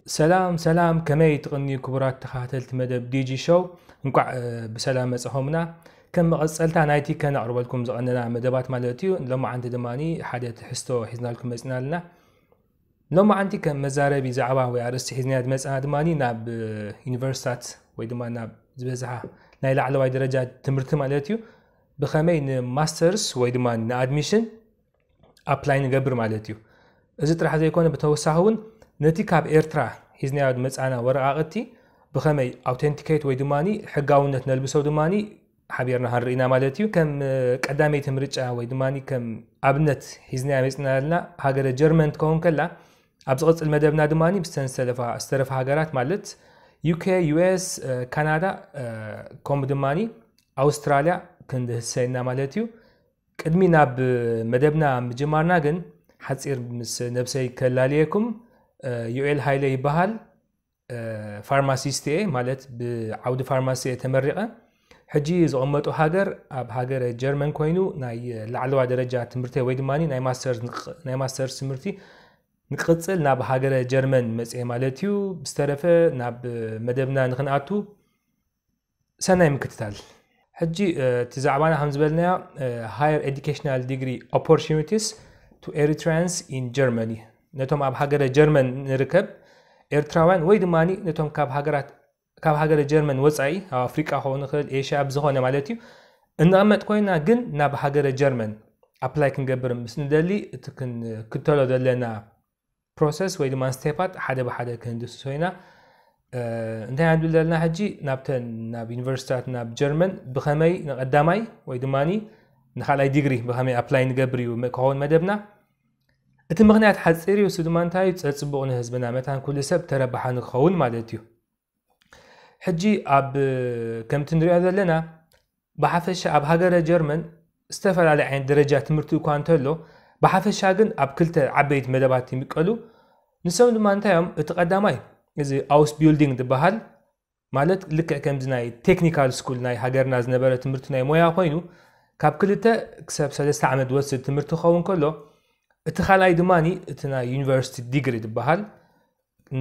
ሰላም ሰላም፣ ከመይ ትቕንዩ ክቡራት ተኸታተልቲ መደብ ዲጂ ሾው? እንቋዕ ብሰላም መጻኹምና። ከም መቐጸልታ ናይቲ ከነቕርበልኩም ዝቐነና መደባት ማለት እዩ፣ ሎማዓንቲ ድማ ሓደ ትሕዝቶ ሒዝናልኩም መጺና ኣለና። ሎማዓንቲ ከም መዛረቢ ዛዕባ ወይ ኣርእስቲ ሒዝናያ ዝመጻና ድማ ናብ ዩኒቨርሲታት ወይ ድማ ናብ ዝበዝሓ ናይ ላዕለዋይ ደረጃ ትምህርቲ ማለት እዩ፣ ብኸመይ ንማስተርስ ወይ ድማ ንኣድሚሽን ኣፕላይ ንገብር ማለት እዩ። እዚ ጥራሕ ዘይኮነ፣ ብተወሳኺ እውን ነቲ ካብ ኤርትራ ሒዝናዮ ዝመጻና ወረቓቕቲ ብኸመይ ኣውተንቲኬት ወይ ድማ ሕጋውነት ነልብሶ ድማ ሓቢርና ክንርኢና ማለት እዩ። ከም ቀዳመይቲ ምርጫ ወይ ድማ ከም ኣብነት ሒዝናያ መጺና ዘለና ሃገረ ጀርመን ትኸውን ከላ፣ ኣብ ዝቕጽል መደብና ድማ ብስተን ዝተረፋ ሃገራት ማለት ዩኬ፣ ዩኤስ፣ ካናዳ፣ ከምኡ ድማ ኣውስትራልያ ክንድህሰ ኢና ማለት እዩ። ቅድሚ ናብ መደብና ምጅማርና ግን ሓጺር ምስ ነብሰይ ከላልየኩም። ዮኤል ሃይለ ይበሃል። ፋርማሲስት እየ፣ ማለት ብዓውዲ ፋርማሲ እየ ተመሪቐ። ሕጂ ዝቕመጦ ሃገር ኣብ ሃገረ ጀርመን ኮይኑ ናይ ላዕለዋ ደረጃ ትምህርተይ ወይ ድማ ናይ ማስተርስ ትምህርቲ ንቅጽል ናብ ሃገረ ጀርመን መጽየ ማለት እዩ። ብዝተረፈ ናብ መደብና ንክንኣቱ ሰናይ ምክትታል። ሕጂ እቲ ዛዕባና ከም ዝበልናዮ፣ higher educational degree opportunities to Eritreans in Germany፣ ነቶም ኣብ ሃገረ ጀርመን ንርከብ ኤርትራውያን ወይ ድማ ነቶም ካብ ሃገራት ካብ ሃገረ ጀርመን ወጻኢ ኣብ ኣፍሪቃ ክኸውን ይኽእል፣ ኤሽያ፣ ኣብ ዝኾነ ማለት እዩ፣ እንቐመጥ ኮይና ግን ናብ ሃገረ ጀርመን ኣፕላይ ክንገብር ምስ ንደሊ እቲ ክንክተሎ ዘለና ፕሮሰስ ወይ ድማ ስቴፓት ሓደ ብሓደ ክንድስሶ ኢና። እንታይ ኢና ንብል ዘለና ሕጂ? ናብተን ናብ ዩኒቨርሲታት ናብ ጀርመን ብኸመይ ንቐዳማይ ወይ ድማ ንኻልኣይ ዲግሪ ብኸመይ ኣፕላይ ንገብር እዩ ክኸውን መደብና። እቲ ምኽንያት ሓፂር እዩ። እሱ ድማ እንታይ እዩ? ፀፅቡቕ ንህዝብና መታን ኩሉ ሰብ ተረባሓ ንክኸውን ማለት እዩ። ሕጂ ኣብ ከምቲ ንሪኦ ዘለና ብሓፈሻ ኣብ ሃገረ ጀርመን ዝተፈላለየ ዓይነት ደረጃ ትምህርቲ እኳ እንተሎ፣ ብሓፈሻ ግን ኣብ ክልተ ዓበይቲ መደባት ይምቀሉ። ንሶም ድማ እንታይ እዮም? እቲ ቀዳማይ እዚ ኣውስ ቢልዲንግ ዝበሃል፣ ማለት ልክዕ ከምዚ ናይ ቴክኒካል ስኩል ናይ ሃገርና ዝነበረ ትምህርቲ ናይ ሞያ ኮይኑ፣ ካብ ክልተ ክሳብ ሰለስተ ዓመት ዝወስድ ትምህርቲ ክኸውን ከሎ፣ እቲ ካልኣይ ድማ እቲ ናይ ዩኒቨርሲቲ ዲግሪ ዝበሃል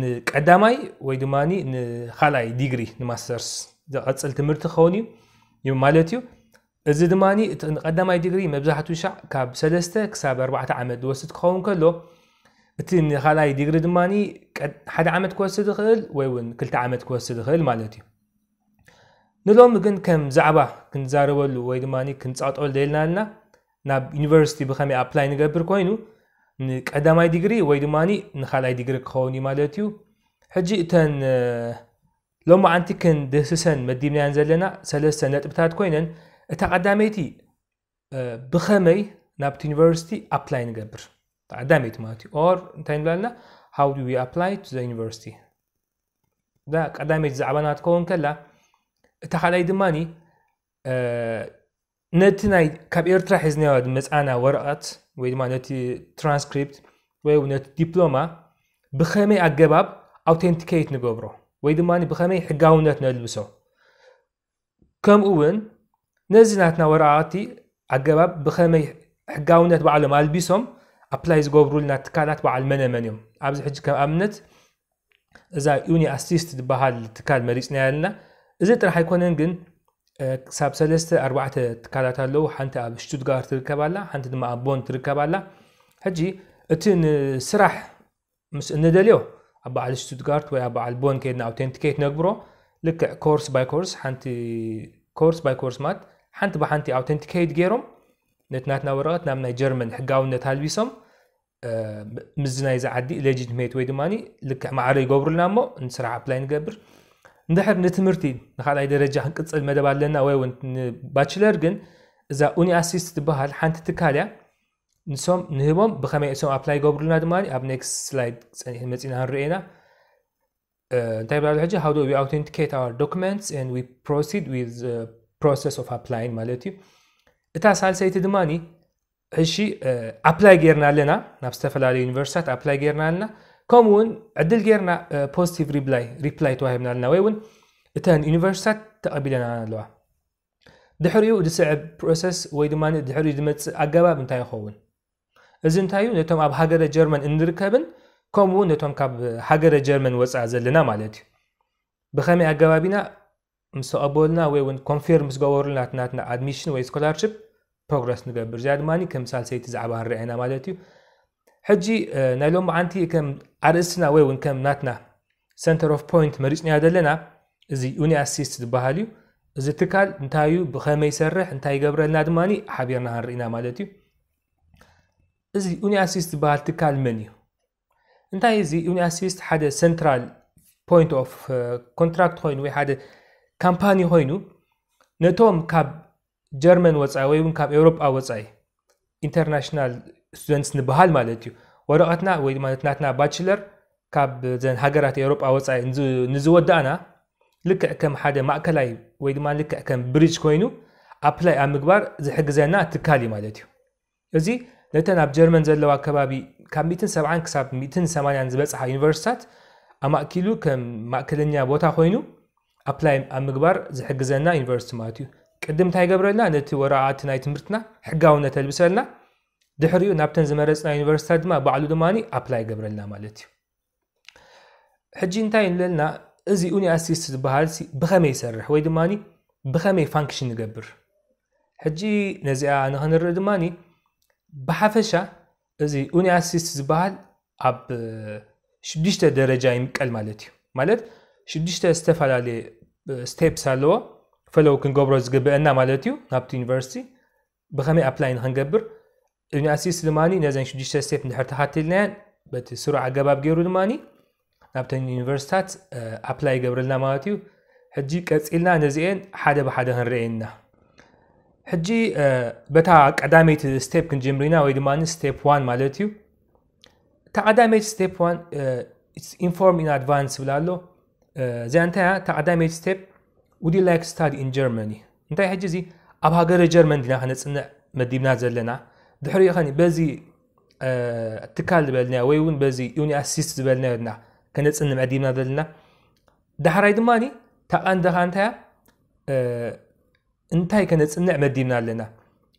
ንቀዳማይ ወይ ድማ ንኻልኣይ ዲግሪ ንማስተርስ ዝቐፅል ትምህርቲ ክኸውን እዩ ማለት እዩ። እዚ ድማ እቲ ንቀዳማይ ዲግሪ መብዛሕትኡ ሻዕ ካብ ሰለስተ ክሳብ ኣርባዕተ ዓመት ዝወስድ ክኸውን ከሎ፣ እቲ ንኻልኣይ ዲግሪ ድማ ሓደ ዓመት ክወስድ ይኽእል ወይ እውን ክልተ ዓመት ክወስድ ይኽእል ማለት እዩ። ንሎሚ ግን ከም ዛዕባ ክንዛረበሉ ወይ ድማ ክንፃጠሉ ደልና ኣለና፣ ናብ ዩኒቨርሲቲ ብኸመይ ኣፕላይ ንገብር ኮይኑ፣ ንቀዳማይ ዲግሪ ወይ ድማ ንኻልኣይ ዲግሪ ክኸውን እዩ ማለት እዩ። ሕጂ እተን ሎማዓንቲ ክንድህስሰን መዲብናየን ዘለና ሰለስተ ነጥብታት ኮይነን፣ እታ ቀዳመይቲ ብኸመይ ናብቲ ዩኒቨርሲቲ ኣፕላይ ንገብር፣ ቀዳመይቲ ማለት እዩ። ኦር እንታይ ንብላልና? How do we apply to the university? እዛ ቀዳመይቲ ዛዕባና ትከውን ከላ፣ እታ ካልኣይ ድማ ነቲ ናይ ካብ ኤርትራ ሒዝናዮ ዝመፃና ወረቐት ወይ ድማ ነቲ ትራንስክሪፕት ወይ እውን ነቲ ዲፕሎማ ብኸመይ ኣገባብ ኣውቴንቲኬት ንገብሮ ወይ ድማ ብኸመይ ሕጋውነት ነልብሶ፣ ከምኡ እውን ነዚ ናትና ወረቓቕቲ ኣገባብ ብኸመይ ሕጋውነት ባዕሎም ኣልቢሶም ኣፕላይ ዝገብሩልና ትካላት በዓል መነ መን እዮም? ኣብዚ ሕጂ ከም ኣብነት እዛ ዩኒ ኣሲስት ዝበሃል ትካል መሪፅና ኣለና። እዚ ጥራሕ ኣይኮነን ግን ክሳብ ሰለስተ ኣርባዕተ ትካላት ኣለዉ። ሓንቲ ኣብ ሽቱትጋርት ትርከብ ኣላ፣ ሓንቲ ድማ ኣብ ቦን ትርከብ ኣላ። ሕጂ እቲ ንስራሕ ምስ እንደልዮ ኣብ በዓል ሽቱትጋርት ወይ ኣብ በዓል ቦን ከይድና ኣውቴንቲኬት ነግብሮ። ልክዕ ኮርስ ባይ ኮርስ፣ ሓንቲ ኮርስ ባይ ኮርስ ማለት ሓንቲ ብሓንቲ ኣውቴንቲኬት ገይሮም ነቲ ናትና ወረቐት ናብ ናይ ጀርመን ሕጋውነት ኣልቢሶም ምስዚ ናይዚ ዓዲ ሌጂትሜት ወይ ድማ ልክዕ ማዕረ ይገብሩልና እሞ ንስራሕ ኣፕላይ ንገብር። እንድሕር ንትምህርቲ ንካልኣይ ደረጃ ክንቅፅል መደብ ኣለና ወይ እውን ንባችለር ግን እዛ ኡኒ ኣሲስት ትበሃል ሓንቲ ትካል እያ። ንሶም ንህቦም ብኸመይ እሶም ኣፕላይ ይገብሩልና ድማ ኣብ ኔክስት ስላይድ ፀኒሕ መፂና ክንሪኦ ኢና። እንታይ ብላሉ ሕጂ? How do we authenticate our documents and we proceed with process of applying ማለት እዩ። እታ ሳልሰይቲ ድማ ሕሺ ኣፕላይ ጌርና ኣለና፣ ናብ ዝተፈላለዩ ዩኒቨርሲታት ኣፕላይ ጌርና ኣለና። ከምኡ እውን ዕድል ጌርና ፖዚቲቭ ሪፕላይ ሪፕላይ ተዋሂብና ኣለና ወይ እውን እተን ዩኒቨርሲታት ተቐቢለና ኣለዋ። ድሕሪኡ ዝስዕብ ፕሮሰስ ወይ ድማ ድሕሪኡ ዝመፅእ ኣገባብ እንታይ ይኸውን? እዚ እንታይ እዩ? ነቶም ኣብ ሃገረ ጀርመን እንርከብን ከምኡ እውን ነቶም ካብ ሃገረ ጀርመን ወፃኢ ዘለና ማለት እዩ። ብኸመይ ኣገባብ ኢና ምስ ተቐበሉና ወይ እውን ኮንፊርም ምስ ገበሩልና ናትና ኣድሚሽን ወይ ስኮላርሽፕ ፕሮግረስ ንገብር። እዚኣ ድማ ከም ሳልሰይቲ ዛዕባ ንርኣ ኢና ማለት እዩ። ሕጂ ናይ ሎሚ ዓንቲ ከም ኣርእስትና ወይ እውን ከም ናትና ሰንተር ኦፍ ፖይንት መሪፅናዮ ዘለና እዚ ዩኒኣሲስት ዝበሃል እዩ። እዚ ትካል እንታይ እዩ፣ ብኸመይ ይሰርሕ፣ እንታይ ይገብረልና ድማ ሓቢርና ክንርኢና ማለት እዩ። እዚ ዩኒኣሲስት ዝበሃል ትካል መን እዩ? እንታይ እዚ ዩኒኣሲስት ሓደ ሰንትራል ፖይንት ኦፍ ኮንትራክት ኮይኑ ወይ ሓደ ካምፓኒ ኮይኑ ነቶም ካብ ጀርመን ወፃኢ ወይ እውን ካብ ኤውሮጳ ወፃኢ ኢንተርናሽናል ስቱደንትስ ንበሃል ማለት እዩ። ወረቐትና ወይ ድማ ናትና ባችለር ካብ ዘን ሃገራት ኤውሮጳ ወፃኢ ንዝወዳእና ልክዕ ከም ሓደ ማእከላይ ወይ ድማ ልክዕ ከም ብሪጅ ኮይኑ ኣፕላይ ኣብ ምግባር ዝሕግዘና ትካል እዩ ማለት እዩ። እዚ ነተን ኣብ ጀርመን ዘለዋ ከባቢ ካብ ሚእትን ሰብዓን ክሳብ ሚእትን ሰማንያን ዝበፅሓ ዩኒቨርሲታት ኣማእኪሉ ከም ማእከለኛ ቦታ ኮይኑ ኣፕላይ ኣብ ምግባር ዝሕግዘና ዩኒቨርሲቲ ማለት እዩ። ቅድም እንታይ ይገብረልና? ነቲ ወረቓቕቲ ናይ ትምህርትና ሕጋውነት ኣልብሰልና፣ ድሕሪኡ ናብተን ዝመረፅና ዩኒቨርሲታት ድማ ባዕሉ ድማ ኣፕላይ ይገብረልና ማለት እዩ። ሕጂ እንታይ ንብለልና? እዚ ዩኒኣሲስት ዝበሃል ብኸመይ ይሰርሕ ወይ ድማ ብኸመይ ፋንክሽን ይገብር? ሕጂ ነዚኣ ንክንርኢ ድማ ብሓፈሻ እዚ ዩኒኣሲስት ዝበሃል ኣብ ሽዱሽተ ደረጃ ይምቀል ማለት እዩ። ማለት ሽዱሽተ ዝተፈላለየ ስቴፕስ ኣለዎ ፈለው ክንገብሮ ዝግብአና ማለት እዩ። ናብቲ ዩኒቨርሲቲ ብኸመይ ኣፕላይ ንክንገብር ዩኒኣሲስት ድማ ነዘን ሽዱሽተ ስቴፕ እንድሕር ተኸቲልናየን በቲ ስሩዕ ኣገባብ ገይሩ ድማ ናብተን ዩኒቨርሲታት ኣፕላይ ይገብረልና ማለት እዩ። ሕጂ ቀፂልና ነዚአን ሓደ ብሓደ ክንርአየና። ሕጂ በታ ቀዳመይቲ ስቴፕ ክንጀምር ኢና ወይ ድማ ስቴፕ ዋን ማለት እዩ። እታ ቀዳመይቲ ስቴፕ ዋን ኢንፎርም ኢን ኣድቫንስ ይብል ኣሎ። እዚኣ እንታይ እያ? እታ ቀዳመይቲ ስቴፕ፣ ውድ ዩ ላይክ ስታዲ ኢን ጀርመኒ? እንታይ ሕጂ እዚ ኣብ ሃገረ ጀርመን ዲና ከነፅንዕ መዲብና ዘለና? ድሕሪኡ ኸኒ በዚ ትካል ዝበልናዮ ወይ እውን በዚ ዩኒኣሲስት ዝበልናዮ ዲና ከነፅንዕ መዲብና ዘለና? ዳሕራይ ድማ እታ ቀንዲ ኸ እንታይ እያ? እንታይ ከነፅንዕ መዲብና ኣለና?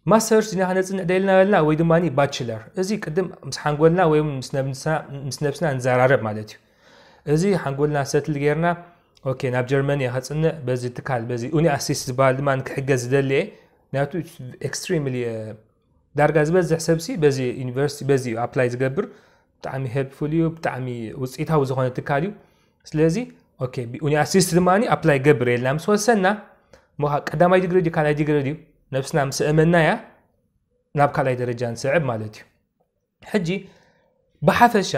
ማስተርስ ዲና ከነፅንዕ ደልና በልና ወይ ድማ ባችለር? እዚ ቅድም ምስ ሓንጎልና ወይ ምስ ነብስና ንዘራረብ ማለት እዩ። እዚ ሓንጎልና ሰትል ጌርና ኦኬ ናብ ጀርመን እየ ከፅንዕ በዚ ትካል በዚ ዩኒኣሲስት ዝበሃል ድማ ክሕገዝ ዝደሊ እየ። ምክንያቱ ኤክስትሪምሊ ዳርጋ ዝበዝሕ ሰብሲ በዚ ዩኒቨርሲቲ በዚ እዩ ኣፕላይ ዝገብር። ብጣዕሚ ሄልፕፉል እዩ፣ ብጣዕሚ ውፅኢታዊ ዝኾነ ትካል እዩ። ስለዚ ኦኬ ዩኒኣሲስት ድማ ኣፕላይ ገብር የልና ምስ ወሰና እሞ ቀዳማይ ዲግሪ ድዩ ካልኣይ ዲግሪ ድዩ ነብስና ምስ ኣእመናያ ናብ ካልኣይ ደረጃ ንስዕብ ማለት እዩ። ሕጂ ብሓፈሻ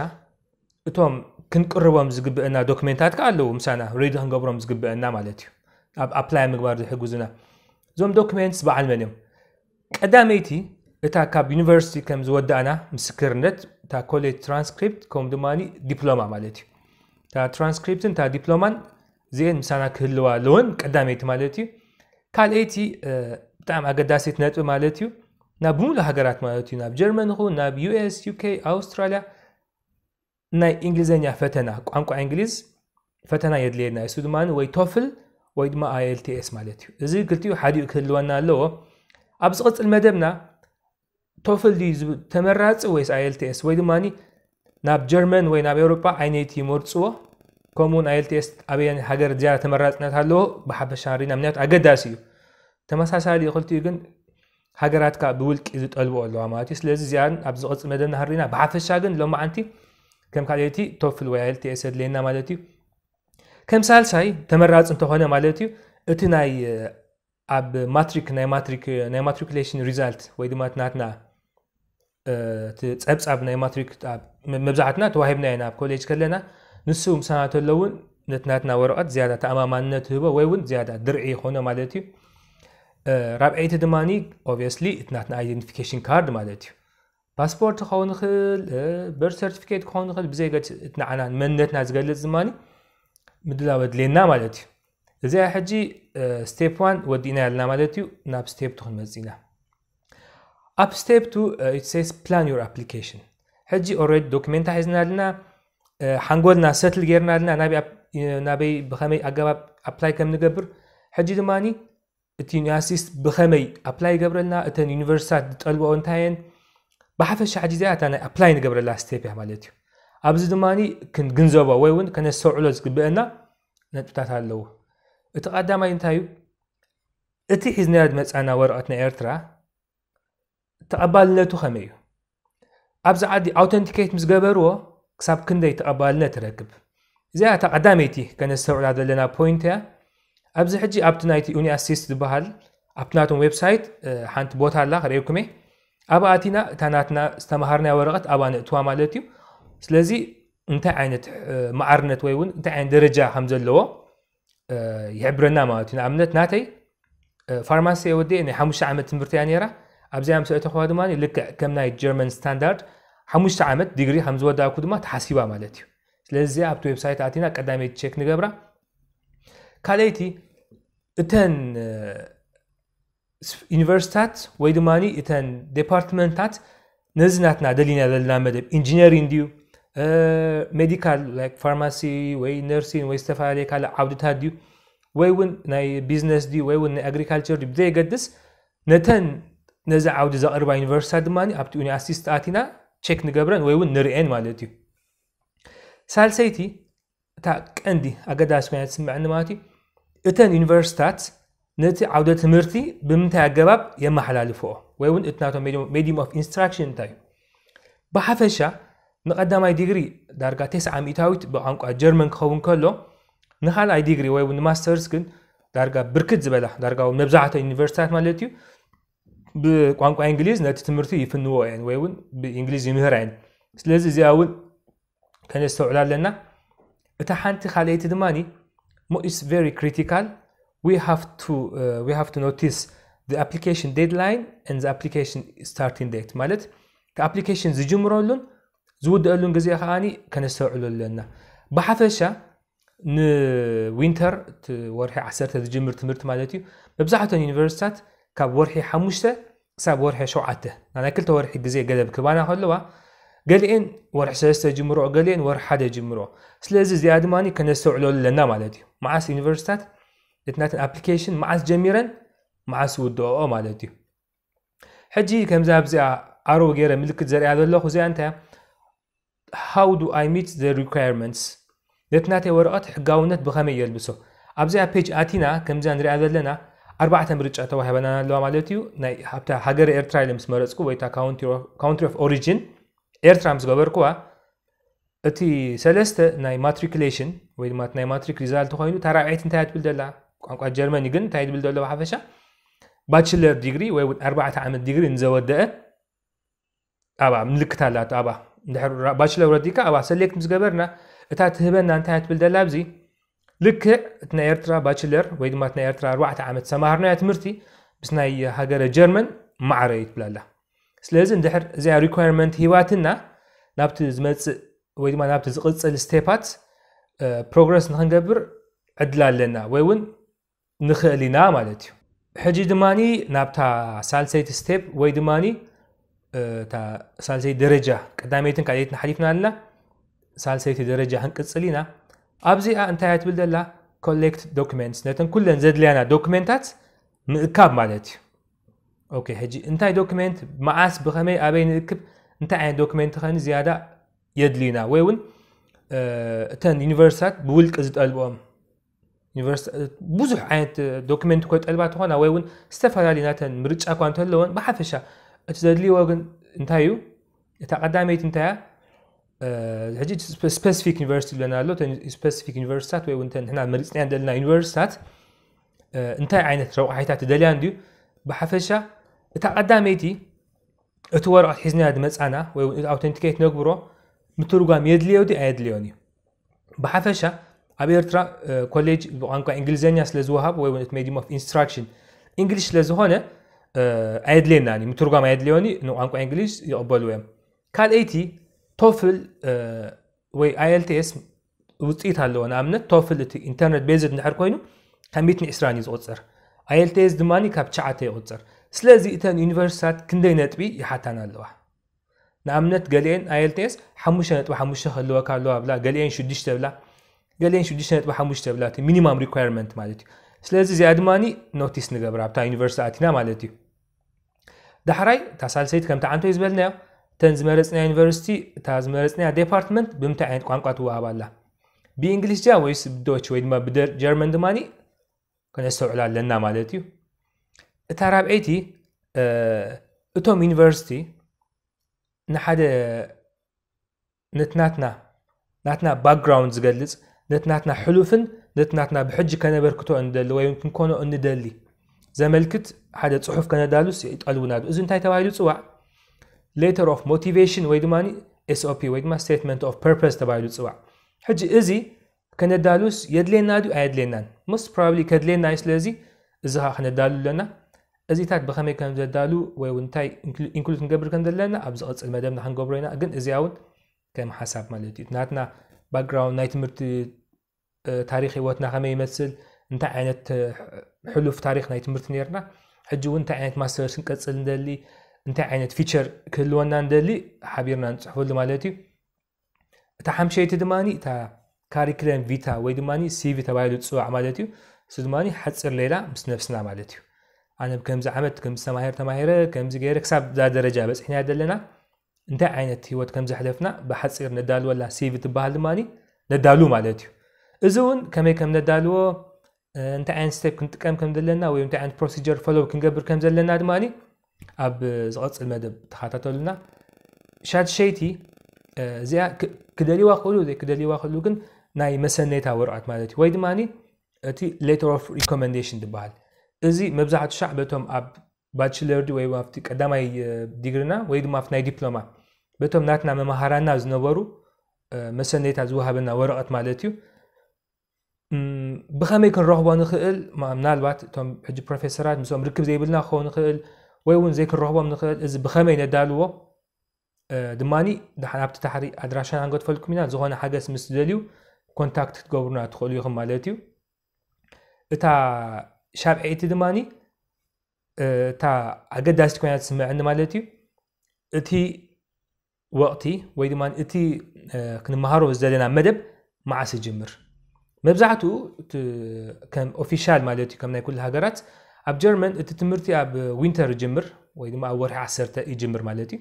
እቶም ክንቅርቦም ዝግብአና ዶክሜንታት ከ ኣለዉ ምሳና ሬዲ ክንገብሮም ዝግብአና ማለት እዩ። ኣብ ኣፕላይ ምግባር ዝሕግዙና እዞም ዶክሜንትስ በዓል መን እዮም? ቀዳመይቲ እታ ካብ ዩኒቨርሲቲ ከም ዝወዳእና ምስክርነት፣ እታ ኮሌጅ ትራንስክሪፕት ከምኡ ድማ ዲፕሎማ ማለት እዩ። እታ ትራንስክሪፕትን እታ ዲፕሎማን እዚአን ምሳና ክህልዋ ኣለወን፣ ቀዳመይቲ ማለት እዩ። ካልኣይቲ ብጣዕሚ ኣገዳሲት ነጥቢ ማለት እዩ ናብ ብምሉእ ሃገራት ማለት እዩ ናብ ጀርመን ይኹን ናብ ዩኤስ ዩኬ ኣውስትራልያ ናይ እንግሊዝኛ ፈተና ቋንቋ እንግሊዝ ፈተና የድልየና። እሱ ድማ ወይ ቶፍል ወይ ድማ ኣይኤልቲኤስ ማለት እዩ። እዚ ክልቲኡ ሓዲኡ ክህልወና ኣለዎ። ኣብ ዝቕፅል መደብና ቶፍል ድዩ ተመራፂ ወይስ ኣይኤልቲኤስ ወይ ድማ ናብ ጀርመን ወይ ናብ ኤውሮጳ ዓይነይቲ ይመርፅዎ? ከምኡውን ኣይኤልቲኤስ ኣበየን ሃገር ዝያዳ ተመራፅነት ኣለዎ ብሓፈሻ ሪና ምክንያቱ ኣገዳሲ እዩ። ተመሳሳሊ ክልቲኡ ግን ሃገራት ከዓ ብውልቂ ዝጠልብኦ ኣለዋ ማለት እዩ። ስለዚ እዚኣን ኣብ ዝቕፅል መደብና ህሪና ብሓፈሻ ግን ሎማዓንቲ ከም ካልኣይቲ ቶፍል ወይ ኣይኤልቲኤስ የድልየና ማለት እዩ። ከም ሳልሳይ ተመራፂ እንተኾነ ማለት እዩ እቲ ናይ ኣብ ማትሪክ ናይ ማትሪክ ናይ ማትሪኩሌሽን ሪዛልት ወይ ድማ ናትና ጸብጻብ ናይ ማትሪክ መብዛሕትና ተዋሂብና ኢና ኣብ ኮሌጅ ከለና ንሱ ምሳና ተለውን ነቲ ናትና ወረቐት ዝያዳ ተኣማማንነት ህቦ ወይ እውን ዝያዳ ድርዒ ይኾኖ ማለት እዩ። ራብዐይቲ ድማ ኦብቪየስሊ እቲ ናትና ኣይደንቲፊኬሽን ካርድ ማለት እዩ። ፓስፖርት ክኸውን ይኽእል፣ በርት ሰርቲፊኬት ክኸውን ይኽእል፣ ብዘይ ገድ እቲ ንዓና መንነትና ዝገልጽ ድማ ምድላው ኣድልየና ማለት እዩ። እዚኣ ሕጂ ስቴፕ ዋን ወዲእና ያልና ማለት እዩ። ናብ ስቴፕ ቱ ክንመጽእ ኢና። ኣብ ስቴፕ ቱ it says plan your application። ሕጂ ኦልሬዲ ዶክሜንታ ሒዝና ኣለና፣ ሓንጎልና ሰትል ጌርና ኣለና ናበይ ብኸመይ ኣገባብ ኣፕላይ ከም ንገብር። ሕጂ ድማ እቲ ዩኒቨርሲቲስ ብኸመይ ኣፕላይ ይገብረልና፣ እተን ዩኒቨርሲታት ዝጠልብኦ እንታየን፣ ብሓፈሻ ሕጂ እዚኣ እታ ናይ ኣፕላይ ንገብረላ ስቴፕ እያ ማለት እዩ። ኣብዚ ድማ ክንግንዘቦ ወይ እውን ከነስተውዕሎ ዝግብአና ነጥብታት ኣለዉ። እቲ ቀዳማይ እንታይ እዩ? እቲ ሒዝናዮ ዝመፃና ወረቐት ናይ ኤርትራ ተቐባልነቱ ከመይ እዩ? ኣብዚ ዓዲ ኣውተንቲኬት ምስ ገበርዎ ክሳብ ክንደይ ተቐባልነት ይረክብ? እዚኣ እታ ቀዳመይቲ ከነስተውዕላ ዘለና ፖይንት እያ። ኣብዚ ሕጂ ኣብቲ ናይቲ ዩኒኣሲስት ዝበሃል ኣብቲ ናቶም ዌብሳይት ሓንቲ ቦታ ኣላ ክርእየኩም እየ። ኣብኣ ኣቲና እታ ናትና ዝተምሃርናያ ወረቐት ኣብኣ ነእትዋ ማለት እዩ። ስለዚ እንታይ ዓይነት ማዕርነት ወይ እውን እንታይ ዓይነት ደረጃ ከም ዘለዎ ይሕብረና ማለት እዩ። ንኣብነት ናተይ ፋርማሲ ወዲኤ ናይ ሓሙሽተ ዓመት ትምህርቲ እያ ነይራ። ኣብዚኣ ምስ ኣእተኽዋ ድማ ልክዕ ከም ናይ ጀርመን ስታንዳርድ ሓሙሽተ ዓመት ዲግሪ ከም ዝወዳእኩ ድማ ተሓሲባ ማለት እዩ። ስለዚ ኣብቲ ዌብሳይት ኣቲና ቀዳመይቲ ቸክ ንገብራ። ካልኣይቲ እተን ዩኒቨርሲታት ወይ ድማ እተን ዴፓርትመንታት ነዚ ናትና ደሊና ዘለና መደብ ኢንጂነሪንግ ድዩ ሜዲካል ላይክ ፋርማሲ ወይ ነርሲን ወይ ዝተፈላለየ ካልእ ዓውድታት ድዩ ወይ እውን ናይ ቢዝነስ ድዩ ወይ እውን ናይ ኣግሪካልቸር ድዩ ብዘየገድስ ነተን ነዚ ዓውዲ ዘቕርባ ዩኒቨርሲታት ድማ ኣብቲ ዩኒኣሲስት ኣቲና ቸክ ንገብረን ወይ እውን ንርእየን ማለት እዩ። ሳልሰይቲ እታ ቀንዲ ኣገዳሲ ኮይና ትስምዐኒ ማለት እዩ እተን ዩኒቨርሲታት ነቲ ዓውደ ትምህርቲ ብምንታይ ኣገባብ የመሓላልፍኦ ወይ እውን እቲ ናቶም ሜዲየም ኦፍ ኢንስትራክሽን እንታይ እዩ? ብሓፈሻ ንቐዳማይ ዲግሪ ዳርጋ ተስዓ ሚእታዊት ብቋንቋ ጀርመን ክኸውን ከሎ ንኻልኣይ ዲግሪ ወይ እውን ንማስተርስ ግን ዳርጋ ብርክት ዝበላ ዳርጋ እውን መብዛሕትኦ ዩኒቨርሲታት ማለት እዩ ብቋንቋ እንግሊዝ ነቲ ትምህርቲ ይፍንዎ እየን ወይ እውን ብእንግሊዝ ይምህራ እየን። ስለዚ እዚኣ እውን ከነስተውዕላ ኣለና። እታ ሓንቲ ካልኣይቲ ድማ is very critical. We have to uh, we have to notice the application deadline and the application starting date ማለት እቲ ኣፕሊኬሽን ዝጅምረሉን ዝውደአሉን ግዜ ከዓኒ ከነስተውዕሎ ኣለና። ብሓፈሻ ንዊንተር እቲ ወርሒ ዓሰርተ ዝጅምር ትምህርቲ ማለት እዩ መብዛሕትኦን ዩኒቨርሲታት ካብ ወርሒ ሓሙሽተ ክሳብ ወርሒ ሸውዓተ ናይ ክልተ ወርሒ ግዜ ገደብ ክባና ከለዋ ገሊኤን ወርሒ ሰለስተ ጅምሮ ገሊኤን ወርሒ ሓደ ጅምሮ። ስለዚ እዚኣ ድማ ከነስተውዕሎ ኣለና ማለት እዩ። መዓስ ዩኒቨርሲታት እቲ ናተን ኣፕሊኬሽን መዓስ ጀሚረን መዓስ ውድኦ ማለት እዩ። ሕጂ ከምዚ ኣብዚኣ ኣሮ ገይረ ምልክት ዘሪኣ ዘለኹ እዚኣ እንታይ how do I meet the requirements? ነቲ ናተይ ወረቐት ሕጋውነት ብኸመይ የልብሶ? ኣብዚኣ ፔጅ ኣቲና ከምዚኣ ንሪኣ ዘለና ኣርባዕተ ምርጫ ተዋሂበና ኣለዋ ማለት እዩ። ናይ ኣብታ ሃገረ ኤርትራ ኢለ ምስ መረፅኩ ወይ እታ country of origin ኤርትራ ምስ ገበርኩዋ እቲ ሰለስተ ናይ ማትሪኩሌሽን ወይ ድማ ናይ ማትሪክ ሪዛልት ኮይኑ እታ ራብዐይቲ እንታይ ትብል ደላ ቋንቋ ጀርመኒ ግን እንታይ ትብል ደሎ ብሓፈሻ ባችለር ዲግሪ ወይ እውን ኣርባዕተ ዓመት ዲግሪ ንዘወደአ ኣብኣ ምልክት ኣላቶ ኣብኣ እንድሕር ባችለር ወዲካ ኣብኣ ሰሌክት ምስ ገበርና እታ ትህበና እንታይ ትብል ደላ ኣብዚ ልክዕ እቲ ናይ ኤርትራ ባችለር ወይ ድማ ናይ ኤርትራ ኣርባዕተ ዓመት ሰማሃርናዮ ትምህርቲ ምስ ናይ ሃገረ ጀርመን ማዕረ እዩ ትብላላ። ስለዚ እንድሕር እዚኣ ሪኳርመንት ሂባትና ናብቲ ዝመፅእ ወይ ድማ ናብቲ ዝቕፅል ስቴፓት ፕሮግረስ ንክንገብር ዕድል ኣለና ወይ እውን ንኽእል ኢና ማለት እዩ። ሕጂ ድማ ናብታ ሳልሰይቲ ስቴፕ ወይ ድማ እታ ሳልሰይቲ ደረጃ ቀዳመይትን ካልኣይትን ሓሊፍና ኣለና። ሳልሰይቲ ደረጃ ክንቅፅል ኢና። ኣብዚኣ እንታይ እያ ትብል ዘላ ኮሌክት ዶክመንትስ ነተን ኩለን ዘድልያና ዶክመንታት ምእካብ ማለት እዩ። ኦኬ ሕጂ እንታይ ዶክመንት መዓስ ብኸመይ ኣበይ ንእክብ እንታይ ዓይነት ዶክመንት ኸኒ ዝያዳ የድልዩና ወይ እውን እተን ዩኒቨርሲታት ብውልቂ ዝጠልብኦም ብዙሕ ዓይነት ዶክመንት ኮ ጠልባ ትኾና ወይ እውን ዝተፈላለዩ ናተን ምርጫ እኳ እንተለዎን ብሓፈሻ እቲ ዘድልይዎ ግን እንታይ እዩ እታ ቀዳመይቲ እንታይ እያ ሕጂ ስፔሲፊክ ዩኒቨርሲቲ ዝብለና ኣሎ ስፔሲፊክ ዩኒቨርሲታት ወይ እውን ንሕና መሪፅናዮ ዘለና ዩኒቨርሲታት እንታይ ዓይነት ረቋሒታት ትደልያ እንድዩ ብሓፈሻ እታ ቀዳመይቲ እቲ ወረቐት ሒዝናዮ ዝመፃና ወይ እውን ኣውተንቲኬት ነግብሮ ምትርጓም የድልዮ ድዩ ኣየድልዮን እዩ ብሓፈሻ ኣብ ኤርትራ ኮሌጅ ብቋንቋ እንግሊዝኛ ስለ ዝወሃብ ወይ እውን ሜዲየም ኦፍ ኢንስትራክሽን እንግሊሽ ስለ ዝኾነ ኣየድልየናን እዩ ምትርጓም ኣየድልዮን እዩ ንቋንቋ እንግሊሽ ይቕበልዎ እዮም ካልኣይቲ ቶፍል ወይ ኣይኤልቲኤስ ውፅኢት ኣለዎ ንኣብነት ቶፍል እቲ ኢንተርኔት ቤዝድ እንድሕር ኮይኑ ካብ ሚትን ዕስራን እዩ ዝቁፅር ኣይኤልቲኤስ ድማ ካብ ትሽዓተ ይቁፅር ስለዚ እተን ዩኒቨርሲታት ክንደይ ነጥቢ ይሓታን ኣለዋ ንኣብነት ገሊኤን ኣይኤልቲኤስ ሓሙሽተ ነጥቢ ሓሙሽተ ክህልወካ ኣለዋ ብላ ገሊኤን ሽዱሽተ ብላ ገሊኤን ሽዱሽተ ነጥቢ ሓሙሽተ ብላ እቲ ሚኒማም ሪኳርመንት ማለት እዩ ስለዚ እዚኣ ድማ ኖቲስ ንገብር ኣብታ ዩኒቨርሲቲ ኣቲና ማለት እዩ ዳሕራይ እታ ሳልሰይቲ ከምቲ ዓንቶይ ዝበልናዮ እተን ዝመረፅና ዩኒቨርሲቲ፣ እታ ዝመረፅና ዴፓርትመንት ብምንታይ ዓይነት ቋንቋ ትወሃብ ኣላ? ብእንግሊሽ ድያ ወይስ ብዶች ወይ ድማ ብጀርመን ድማኒ ከነስተውዕል ኣለና ማለት እዩ። እታ ራብዐይቲ እቶም ዩኒቨርሲቲ ንሓደ ነቲ ናትና ናትና ባክግራውንድ ዝገልጽ፣ ነቲ ናትና ሕሉፍን ነቲ ናትና ብሕጂ ከነበርክቶ እንደሊ ወይ ክንኮኖ እንደሊ ዘመልክት ሓደ ጽሑፍ ከነዳሉስ ይጠልቡና። እዚ እንታይ ተባሂሉ ጽዋዕ? ሌተር ኦፍ ሞቲቬሽን ወይ ድማ ኤስኦፒ ወይ ድማ ስቴትመንት ኦፍ ፐርፐስ ተባሂሉ ጽዋዕ። ሕጂ እዚ ከነዳሉስ የድልየና ድዩ ኣየድልየናን? ሞስት ፕሮባብሊ ከድልየና እዩ። ስለዚ እዚ ኸዓ ከነዳሉ ኣለና። እዚታት ብኸመይ ከም ዘዳሉ ወይ እውን እንታይ ኢንክሉድ ክንገብር ከም ዘለና ኣብ ዝቐጽል መደብና ክንገብሮ ኢና። ግን እዚኣ እውን ከም ሓሳብ ማለት እዩ። ናትና ባክግራውንድ ናይ ትምህርቲ ታሪኽ ህይወትና ከመይ ይመስል፣ እንታይ ዓይነት ሕሉፍ ታሪኽ ናይ ትምህርቲ ነርና፣ ሕጂ እውን እንታይ ዓይነት ማስተርስ ክንቀጽል እንደሊ፣ እንታይ ዓይነት ፊቸር ክህልወና እንደሊ ሓቢርና ንፅሕፈሉ ማለት እዩ። እታ ሓምሸይቲ ድማ እታ ካሪክለም ቪታ ወይ ድማ ሲቪ ተባሂሉ ዝፅዋዕ ማለት እዩ። እሱ ድማ ሓፂር ሌላ ምስ ነብስና ማለት እዩ። ኣነ ከምዚ ዓመት ከምዚ ተማሂር ተማሂረ ከምዚ ገይረ ክሳብ እዛ ደረጃ በፂሕና ዘለና እንታይ ዓይነት ህይወት ከም ዘሕለፍና ብሓፂር ነዳልወላ ሲቪ ትበሃል ድማ ነዳሉ ማለት እዩ። እዚ እውን ከመይ ከም ነዳልዎ፣ እንታይ ዓይነት ስቴፕ ክንጥቀም ከም ዘለና ወይ እንታይ ዓይነት ፕሮሲጀር ፎሎው ክንገብር ከም ዘለና ድማ ኣብ ዝቐፅል መደብ ተኸታተሉና። ሻድሸይቲ እዚኣ ክደልይዋ ክእሉ ዘይክደልይዋ ክእሉ ግን ናይ መሰነይታ ወረቐት ማለት እዩ። ወይ ድማ እቲ ሌተር ኦፍ ሪኮመንዴሽን ዝበሃል እዚ መብዛሕቱ ሻዕ በቶም ኣብ ባችለር ድዩ ወይ ኣብቲ ቀዳማይ ዲግሪና ወይ ድማ ኣብቲ ናይ ዲፕሎማ በቶም ናትና መምሃራና ዝነበሩ መሰነይታ ዝወሃበና ወረቐት ማለት እዩ። ብኸመይ ክንረኽቦ ንኽእል? ምናልባት እቶም ሕጂ ፕሮፌሰራት ምስኦም ርክብ ዘይብልና ክኸውን ንኽእል ወይ እውን ዘይክንረኽቦም ንኽእል። እዚ ብኸመይ ነዳልዎ ድማኒ ድሓን ኣብቲ ታሕሪ ኣድራሻና ክንገድፈልኩም ኢና። ዝኾነ ሓገዝ ምስ ትደልዩ ኮንታክት ክትገብሩና ትኽእሉ ኢኹም ማለት እዩ። እታ ሻብዐይቲ ድማኒ እታ ኣገዳሲት ኮይና ትስምዐኒ ማለት እዩ። እቲ ወቕቲ ወይ ድማ እቲ ክንመሃሮ ዝደለና መደብ መዓስ ይጅምር? መብዛሕትኡ ከም ኦፊሻል ማለት እዩ ከም ናይ ኩሉ ሃገራት ኣብ ጀርመን እቲ ትምህርቲ ኣብ ዊንተር ይጅምር ወይ ድማ ኣብ ወርሒ ዓሰርተ ይጅምር ማለት እዩ።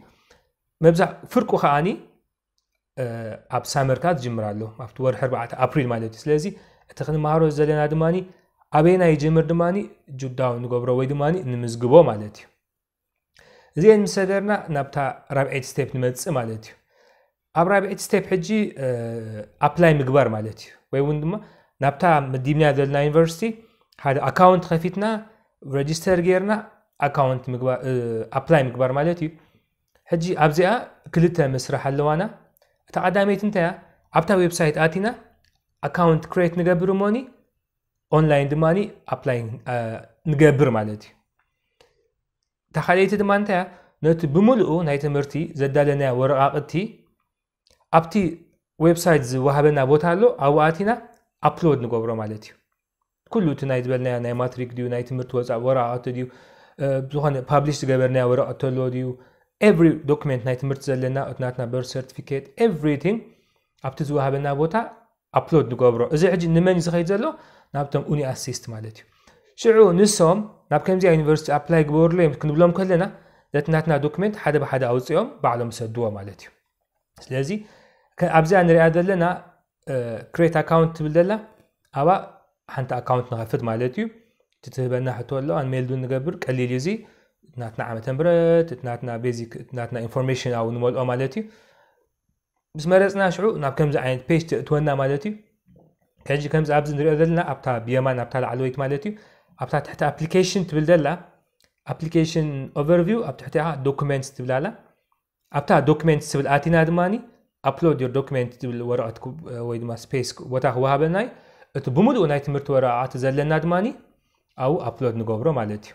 መብዛሕ ፍርቁ ከዓኒ ኣብ ሳመርካ ዝጅምር ኣሎ ኣብቲ ወርሒ ኣርባዕተ ኣፕሪል ማለት እዩ። ስለዚ እቲ ክንመሃሮ ዘለና ድማ ኣበይና ይጅምር ድማ ጁዳው ንገብሮ ወይ ድማ ንምዝግቦ ማለት እዩ። እዚአን ምስ ሰገርና ናብታ ራብዐይቲ ስቴፕ ንመፅእ ማለት እዩ። ኣብ ራብዐይቲ ስቴፕ ሕጂ ኣፕላይ ምግባር ማለት እዩ። ወይ እውን ድማ ናብታ መዲብና ዘለና ዩኒቨርሲቲ ሓደ ኣካውንት ከፊትና ረጅስተር ጌርና ኣካውንት ኣፕላይ ምግባር ማለት እዩ። ሕጂ ኣብዚኣ ክልተ መስርሕ ኣለዋና። እታ ቀዳመይቲ እንታይ እያ? ኣብታ ዌብሳይት ኣቲና ኣካውንት ክሬት ንገብር እሞኒ ኦንላይን ድማ ኣፕላይ ንገብር ማለት እዩ። እታ ካልኣይቲ ድማ እንታይ እያ? ነቲ ብምሉኡ ናይ ትምህርቲ ዘዳለናዮ ወረቓቕቲ ኣብቲ ዌብሳይት ዝወሃበና ቦታ ኣሎ፣ ኣብኡ ኣቲና ኣፕሎድ ንገብሮ ማለት እዩ። ኩሉ እቲ ናይ ዝበልናዮ ናይ ማትሪክ ድዩ ናይ ትምህርቲ ወፃእ ወረቓቕቲ ድዩ ዝኾነ ፓብሊሽ ዝገበርናዮ ወረቐት ተሎ ድዩ ኤቭሪ ዶክመንት ናይ ትምህርቲ ዘለና እቲ ናትና በርት ሰርቲፊኬት ኤቭሪቲንግ ኣብቲ ዝወሃበና ቦታ ኣፕሎድ ንገብሮ። እዚ ሕጂ ንመን እዩ ዝኸይድ ዘሎ? ናብቶም ኡኒ ኣሲስት ማለት እዩ። ሽዑ ንሶም ናብ ከምዚኣ ዩኒቨርሲቲ ኣፕላይ ግበሩለይ ክንብሎም ከለና ነቲ ናትና ዶክመንት ሓደ ብሓደ ኣውፅኦም ባዕሎም ሰድዎ ማለት እዩ። ስለዚ ኣብዚኣ ንሪኣ ዘለና ክሬት ኣካውንት ትብል ዘላ ኣብኣ ሓንቲ ኣካውንት ንኸፍት ማለት እዩ። እቲ ትህበና ሕቶ ኣሎ ኣንሜልዱ ንገብር ቀሊል እዩ። እዚ ናትና ዓመተ ምህረት ናትና ቤዚክ ናትና ኢንፎርሜሽን ኣብኡ ንመልኦ ማለት እዩ። ምስ መረፅና ሽዑ ናብ ከምዚ ዓይነት ፔጅ ትእትወና ማለት እዩ። ከዚ ከምዚ ኣብዚ ንሪኦ ዘለና ኣብታ ብየማን ኣብታ ላዕለወይት ማለት እዩ ኣብታ ትሕቲ ኣፕሊኬሽን ትብል ዘላ ኣፕሊኬሽን ኦቨርቪው ኣብ ትሕቲ ዶኩሜንትስ ትብል ኣላ። ኣብታ ዶክመንት ትብል ኣቲና ድማ ኣፕሎድ ዮር ዶክመንት ትብል ወረቐት ወይ ድማ ስፔስ ቦታ ክወሃበና እዩ። እቲ ብምሉእ ናይ ትምህርቲ ወረቓቕቲ ዘለና ድማ ኣብኡ ኣፕሎድ ንገብሮ ማለት እዩ።